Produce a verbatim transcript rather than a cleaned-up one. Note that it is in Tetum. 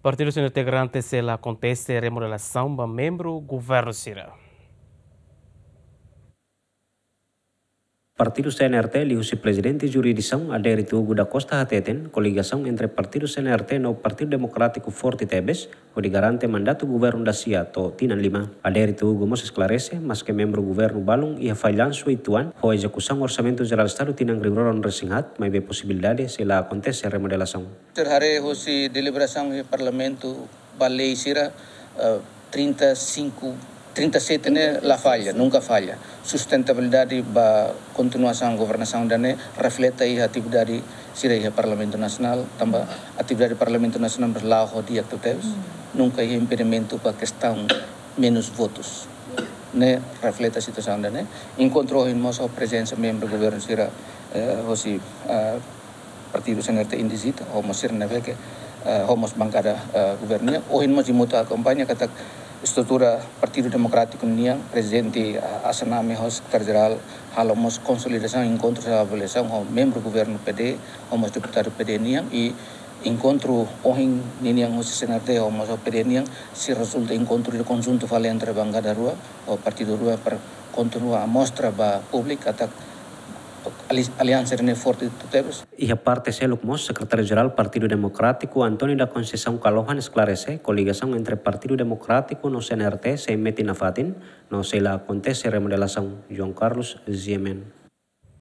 Partidu C N R T garante sei la akontese remodelasaun ba membru governu sira. Partidu C N R T liuhusi Prezidente Jurisdisaun Adérito Hugo da Costa hateten, koligasaun entre Partidu C N R T no Partidu Demokrátiku forte tebes, hodi garante mandatu governu da sia to'o tinan lima. Adérito Hugo mós esklarese, maske membru governu balun iha fallansu uitoan ho ezekusaun Orsamentu Jerál Estadu tinan rihun rua ruanulu-resin-haat, maibé posibilidade sei la akontese remodelasaun. Sira haree hosi deliberasaun iha Parlamentu ba lei sira, eh, trinta e cinco, trinta e sete ne'e la falla, nunka falla. Sustentabilidade ba kontinuasaun governasaun ida-ne'e reflete iha atividade sira iha Parlamentu Nasionál, tanba atividade Parlamentu Nasionál mós la'o ho di'ak tebes, nunka iha impedimentu ba kestaun menus votus. Ne'e reflete situasaun ida-ne'e. Enkontru ohin mós ho prezensa membru governu sira, eh, hosi, eh, Partidu C N R T indizita, ho mós sira ne'ebé ke, eh, ho mós bankada, eh, governu nian. Ohin mós imi hotu akompaña katak estrutura Partidu Demokrátiku nian, prezidente, eh, Hasan Nami ho sekretáriu jerál, halo mós konsolidasaun enkontru sira avaliasaun ho membru governu P D, ho mós deputadu P D nian, i enkontru ohin ninian hosi C N R T ho mós ho P D nian, sei rezulta enkontru ida konjuntu fali entre bankada rua, ho partidu rua para kontinua mostra ba públiku katak ali-, aliansa ne'e forte tebes. Iha parte seluk mós, Sekretáriu Jerál Partidu Demokrátiku, António da Conceição Kalohan esklarese, koligasaun entre Partidu Demokrátiku no C N R T sei metin nafatin, no sei la akontese remodelasaun. João Carlos, G M N.